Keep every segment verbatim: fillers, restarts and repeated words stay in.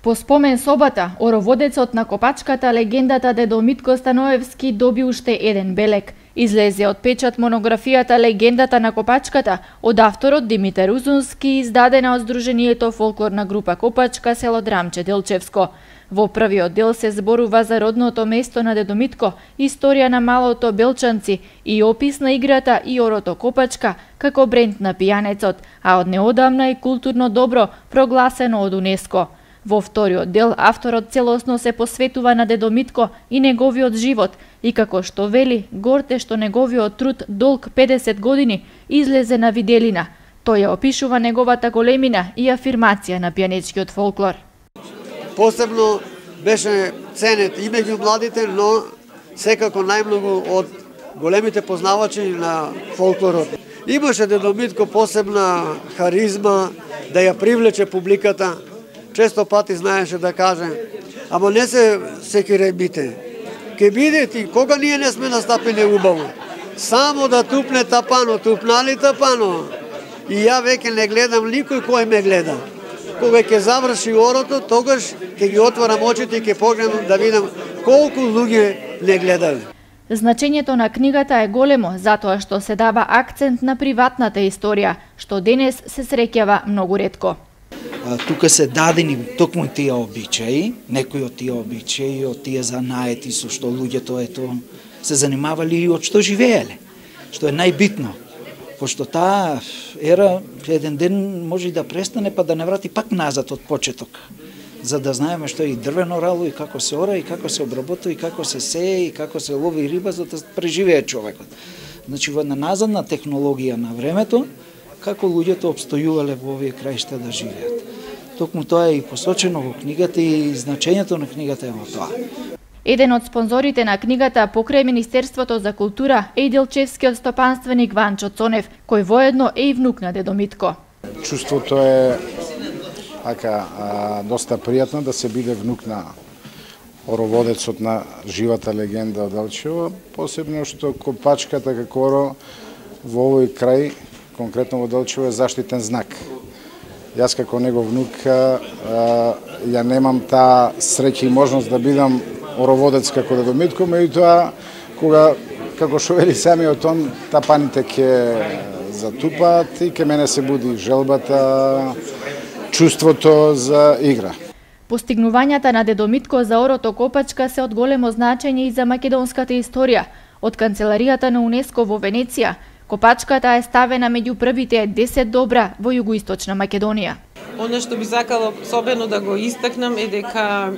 По спомен собата, ороводецот на копачката легендата Дедо Митко Становевски доби уште еден белек. Излезе од печат монографијата Легендата на копачката од авторот Димитар Узунски, издадена од Сдруженијето фолклорна група Копачка, село Драмче Делчевско. Во првиот дел се зборува за родното место на Дедо Митко, историја на малото Белчанци и опис на играта и орото Копачка како бренд на пијанецот, а од неодамна и културно добро прогласено од УНЕСКО. Во вториот дел авторот целосно се посветува на Дедо Митко и неговиот живот и како што вели, горте што неговиот труд долг педесет години излезе на виделина. Тој ја опишува неговата големина и афирмација на пијанечкиот фолклор. Посебно беше ценет и меѓу младите, но секако најмногу од големите познавачи на фолклорот. Имаше Дедо Митко посебна харизма да ја привлече публиката. Често пати знаеше да каже: ама не се секире бите. Ке бидете и кога ние не сме настапени убаво. Само да тупне тапано, тупнали тапано. И ја веќе не гледам никој кој ме гледа. Кога ќе заврши орото, тогаш ќе ги отворам очите и ќе погледам да видам колку луѓе не гледале. Значењето на книгата е големо затоа што се дава акцент на приватната историја, што денес се среќава многу ретко. Тука се дадени токму тие обичаи, некои од тие обичаи, од тие занаети со што луѓето ето се занимавали и од што живееле, што е најбитно. Пошто таа ера еден ден може и да престане, па да не врати пак назад од почеток, за да знаеме што е и дрвено рало, и како се ора, и како се обработува, и како се сее, и како се лови риба, за да преживее човекот. Значи, во една назадна технологија на времето, како луѓето обстојувале во овие краишта да живеат. Токму тоа е и посочено во книгата и значењето на книгата е во тоа. Еден од спонзорите на книгата покрај Министерството за култура е и делчевскиот стопанственик Ванчо Цонев, кој воедно е и внук на Дедо Митко. Чувството е ака а, доста пријатно да се биде внук на ороводецот на живата легенда од Делчево, посебно што копачката како оро во овој крај, конкретно во Делчево, е заштитен знак. Јас како негов внук а, ја немам таа среќа и можност да бидам ороводец како Дедо Митко, меѓутоа кога, како што вели самиот он, тапаните ќе затупаат и ке мене се буди желбата, чувството за игра. Постигнувањата на Дедо Митко за орото Копачка се од големо значење и за македонската историја. Од канцеларијата на УНЕСКО во Венеција, Копачката е ставена меѓу првите десет добра во југоисточна Македонија. Оно што би сакала особено да го истакнам е дека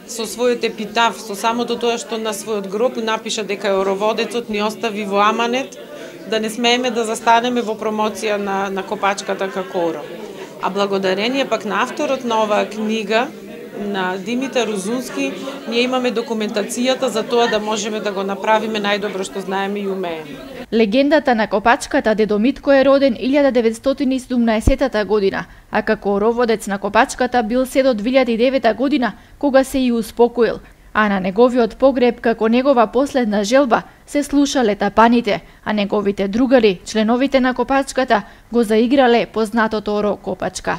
со својот епитаф, со самото тоа што на својот гроб напиша дека ороводецот ни остави во аманет, да не смееме да застанеме во промоција на, на Копачката како оро. А благодарение пак на авторот на оваа книга, на Димитар Узунски, ние имаме документацијата за тоа да можеме да го направиме најдобро што знаеме и умееме. Легендата на Копачката Дедо Митко е роден илјада деветстотини и седумнаесетта година, а како ороводец на Копачката бил се до две илјади и девета година, кога се и успокоил. А на неговиот погреб, како негова последна желба, се слушале тапаните, а неговите другари, членовите на Копачката, го заиграле познатото оро Копачка.